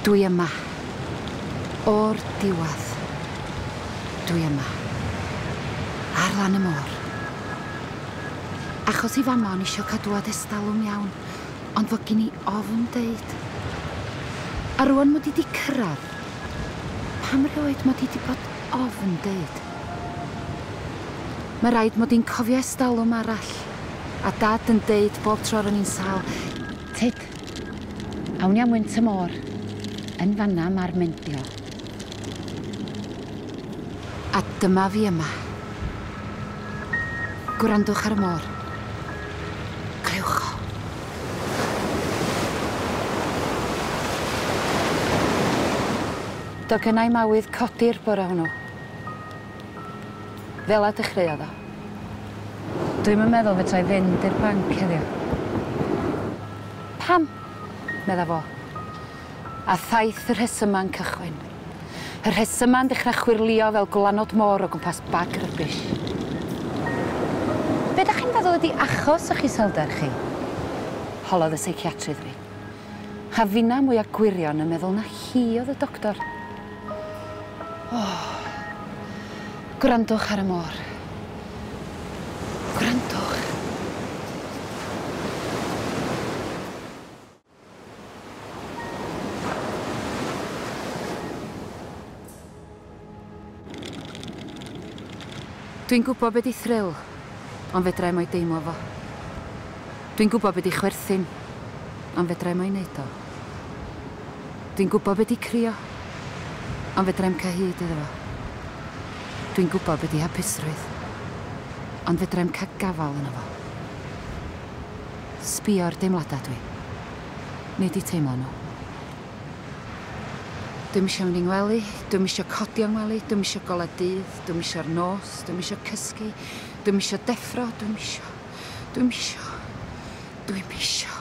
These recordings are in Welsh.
Dwi yma. O'r diwedd. Dwi yma. Ar lan y môr. Achos i fama o'n isio cadwad estalwm iawn, ond fod gen i ofn deud. A rwan mod i di cyrraedd, pam rioed mod i di bod ofn deud? Mae rhaid mod i'n cofio estalwm arall, a dad yn deud bob tro ro'n i'n sâl, Tyd, awn ni am wynt y môr. Yn fanna mae'r mendio. A dyma fi yma. Gwrandwch ar y môr. Clywch o. Do gynnau mawydd codi'r bore hwnnw. Fel a dechreuodd o. Dwi'm yn meddwl fedra i fynd i'r banc heddiw. Pam? Medda fo. A thaith y rhesyma'n cychwyn. Y rhesyma'n dechrau chwyrlïo fel gwlanod môr o gwmpas bag rybish. Be dach chi'n feddwl ydi achos o'ch iselder chi? Holodd y seiciatrydd fi. A finna mwya gwirion yn meddwl na hi oedd y doctor. Oh. Gwrandwch ar y môr. Gwrandwch. Dwi'n gwybod be di thrill, ond fedra i'm o'i deimlo fo. Dwi'n gwybod be di chwerthin, ond fedra i'm o'i wneud o. Dwi'n gwybod be di crio, ond fedra i'm cael hyd iddo fo. Dwi'n gwybod be di hapusrwydd, ond fedra i'm cael gafael yno fo. Sbio ar deimladau dwi. Nid i teimlo nhw. Dwi'm isio mynd i ngwely, dwi'm isio codi o'n ngwely, dwi'm isio golau dydd, dwi'm isio'r nos, dwi'm isio cysgu, dwi'm isio deffro, dwi'm isio, dwi'm isio, dwi'm isio.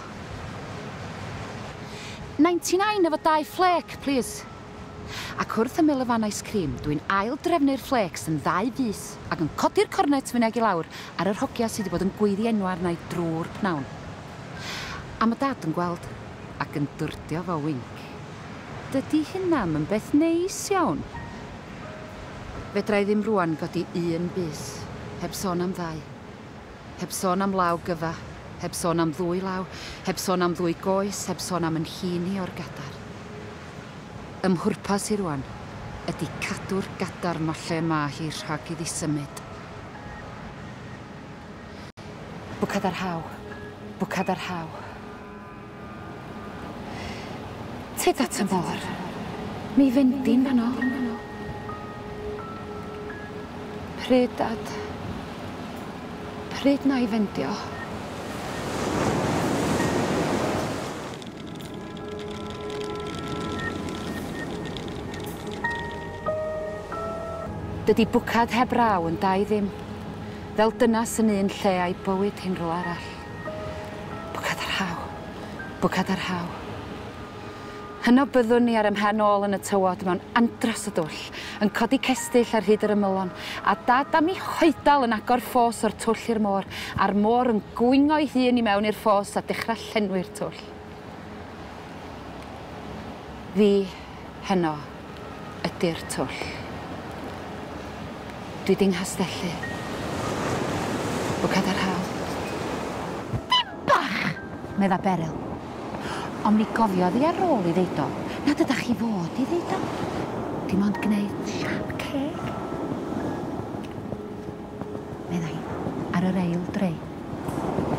99 efo dau flake, please. Ac wrth ymyl y fan ice cream, dwi'n ail drefnu'r flakes yn ddau fus ac yn codi'r cornet fyny ag i lawr ar yr hogia sydd wedi bod yn gweiddi enw arna i drwy'r pnawn. A mae dad yn gweld ac yn dwrdio fo winc. Dydy hynna'm yn beth neis iawn. Fedra i ddim rwan godi un bys, heb sôn am ddau. Heb sôn am law gyfa, heb sôn am ddwy law, heb sôn am ddwy goes, heb sôn am yn hun i o'r gadar. Ym mhwrpas i rwan ydy cadw'r gadar ma lle ma hi rhag iddi symud. Bwcad ar haw, bwcad ar haw. Tyd at y môr. Mi fendi'n fanno. Pryd, dad? Pryd na i fendio? Dydy bwcad heb raw yn da i ddim. Fel dynas yn un lle a'i bywyd hi'n rhywle arall. Bwcad ar haw. Bwcad ar haw. Hynno byddwn ni ar ym mhen ôl yn y tywod mewn andros o dwll, yn codi cestyll ar hyd yr ymylon, a dad am ei hoedal yn agor ffos o'r twll i'r môr, a'r môr yn gwingo'i hun i mewn i'r ffos a dechrau llenwi'r twll. Fi, heno, ydy'r twll. Dwi di nghastellu. Bwcad ar haw. Dim bach, medda Beryl. Ond mi gofiodd hi ar ôl i ddeud o, nad ydach chi fod i ddeud o. Dim ond gwneud siap ceg. Meddai hi, ar yr ail drei.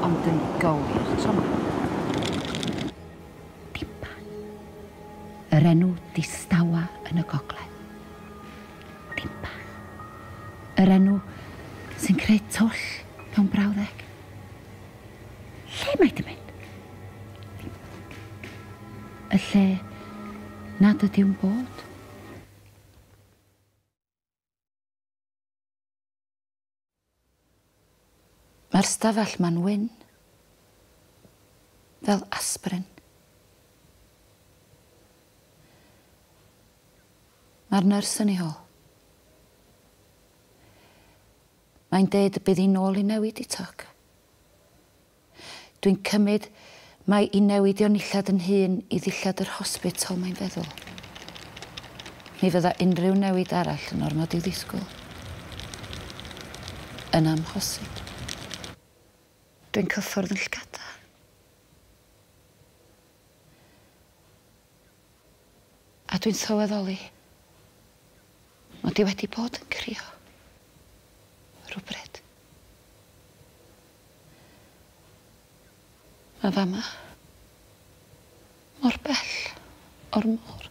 Ond yn gywir tro 'ma. Dim bach. Yr enw distawa yn y gogledd. Dim bach. Yr enw sy'n creu twll mewn brawddeg. Lle mae di mynd? Y lle nad ydyw'n bod. Mae'r stafell ma'n wyn. Fel aspirin. Mae'r nyrs yn ei hôl. Mae'n deud y bydd hi'n ôl i newid i toc. Dwi'n cymryd Mae i newid o'n nillad yn hun i ddillad yr hospital mae'n feddwl. Mi fydda unrhyw newid arall yn ormod i'w ddisgwyl. Yn amhosib. Dwi'n cyffwrdd yn llgada. A dwi'n sylweddoli mod i wedi bod yn crio. Rhywbryd. Mae fama. Mor bell o'r môr.